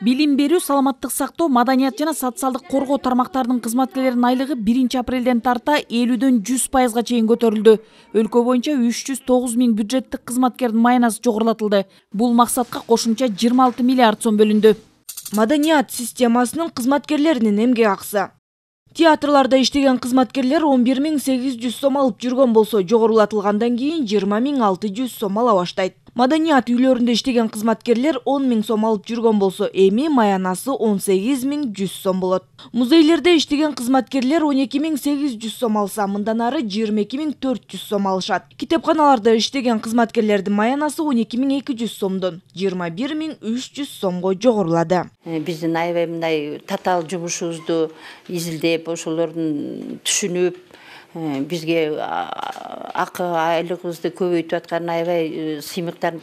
Билим берүү, саламаттык сактоо, маданият жана социалдык коргоо тармактарынын кызматкерлеринин айлыгы 1-апрелден тарта 50дөн 100%га чейин көтөрүлдү. Өлкө боюнча 309 000 бюджеттик кызматкердин маянасы жогорулатылды. Бул максатка кошумча 26 миллиард сом бөлүндү. Маданият системасынын кызматкерлеринин эмгек акысы. Театрларда иштеген кызматкерлер 11 800 сом алып жүргөн болсо, жогорулатылгандан кийин 20 600 сом ала баштайт. Маданият үйлөрүндө иштеген кызматкерлер 10 000 сом алып жүргөн болсо, эми маянасы 18 100 сом болот. Музейлерде иштеген кызматкерлер 12 800 сом алса, мындан ары 22 400 сом алышат. Китепканаларда иштеген кызматкерлердин маянасы 12 200 сомдон 21 300 сомго жогорулады. Биздин аябай мындай татаал жумушубузду изилдеп, ошолордун түшүнүп, бизге акы айлыгыбызды көбөйтүп аткан аябай сыймыктарын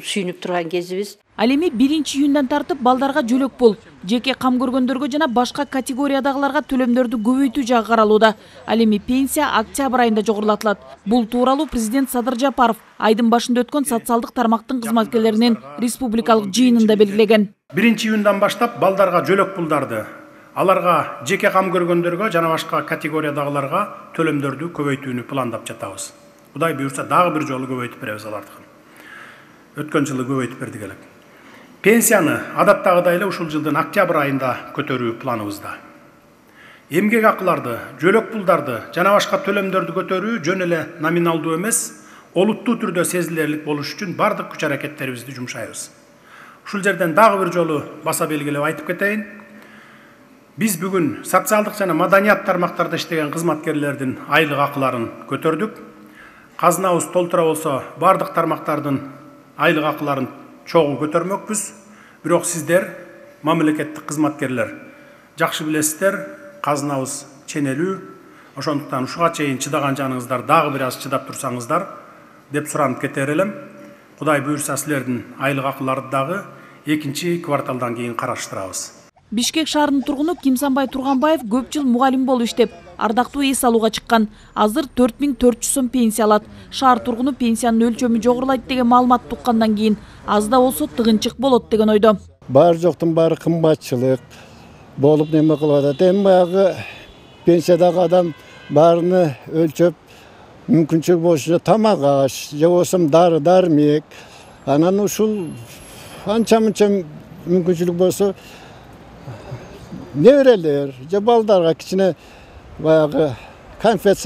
сүйүнүп турган кезибиз. Ал эми 1-июндан тартып балдарга жөлөк пул, жеке кам көргөндөргө жана башка категориядагыларга төлөмдөрдү көбөйтүү жагы каралууда. Ал эми пенсия октябрь айында жогорулатылат. Бул тууралуу президент Садыр Жапаров айдын башында өткөн социалдык тармактын кызматкерлеринин республикалык жыйынында белгилеген. 1-июндан баштап балдарга жөлөк пулдарды, аларга жеке кам көргөндөргө жана башка категориядагыларга төлөмдөрдү көбөйтүүнү пландап жатабыз. Кудай буйрса дагы бир жолу көбөйтүп беребиз алардыкын. Өткөн жылы көбөйтүп бердик элек. Пенсияны адаттагыдай эле ушул жылдын октябрь айында көтөрүү планыбызда. Эмгек акыларды, жөлөк пулдарды жана башка төлөмдөрдү көтөрүү жөн эле номиналдуу эмес, олуттуу түрдө сезилерлик болуш үчүн бардык күч аракеттерибизди жумшайбыз. Ушул жерден дагы бир жолу баса белгилеп айтып кетейин. Биз бүгүн социалдык жана маданият тармактарда иштеген кызматкерлердин айлык акыларын көтөрдүк. Казынабыз толтура болсо, бардык тармактардын айлык акыларын чогуу көтөрмөкпүз. Бирок сиздер, мамлекеттик кызматкерлер, жакшы билесиздер, казынабыз ченелүү. Ошондуктан ушуга чейин чыдаган жаныңыздар дагы бир аз чыдап турсаңыздар деп суранып кетер элем. Кудай буйрса силердин айлык акыларды дагы 2-кварталдан кийин караштырабыз. Бишкек шаарынын тургуну Кимсанбай Турганбаев көп жыл мугалим болуп иштеп, ардактуу эс алууга чыккан. Азыр 4400 сом пенсия алат. Шаар тургуну пенсиянын өлчөмү жогорулайт деген маалымат туккандан кийин аз да болсо тыгынчык болот деген ойдо. Бар жоктун баары кымбатчылык болуп неме кылып атат. Эми баягы пенсиядагы адам баарыны өлчөп мүмкүнчүлүк болушунча тамак аш, же болбосо дары-дармек. Анан ушул анча-мынча мүмкүнчүлүк болсо неберелер, же балдарга кичине баягы конфет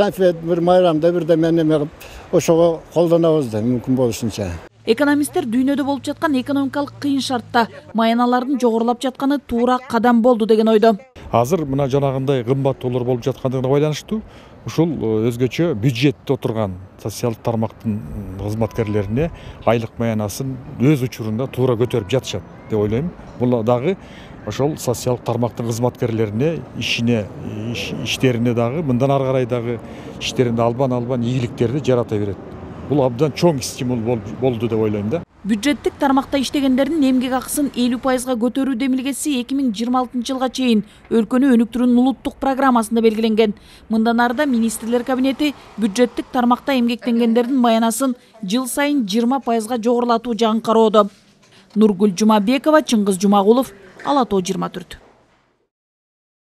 бир майрамда бирдеме неме кылып ошого колдонобуз да мүмкүн болушунча. Экономисттер дүйнөдө болуп жаткан экономикалык кыйын шартта маяналардын жогорулап жатканы туура кадам болду деген ойдо. Азыр мына жанагындай кымбаттоолор болуп жаткандыгына байланыштуу ушул өзгөчө бюджетте отурган социалдык тармактын кызматкерлерине айлык маянасын өз учурунда туура көтөрүп жатышат деп ойлойм. Бул дагы ошол социалдык тармактын кызматкерлерине иштерине дагы мындан ары карай дагы иштеринде албан ийгиликтерди жарата берет. Бул абдан чоң стимул болду деп ойлойм да. Бюджеттик тармакта иштегендердин эмгек акысын 50%га көтөрүү демилгеси 2026 жылга чейин өлкөнү өнүктүрүүнүн улуттук программасында белгиленген. Мындан арда министрлер кабинети бюджеттик тармакта эмгектенгендердин маянасын жыл сайын 20%га жогорулатуу жагын кароодо. Нургүл Жумабекова, Чыңгыз Жумагулов, Ала Тоо 24.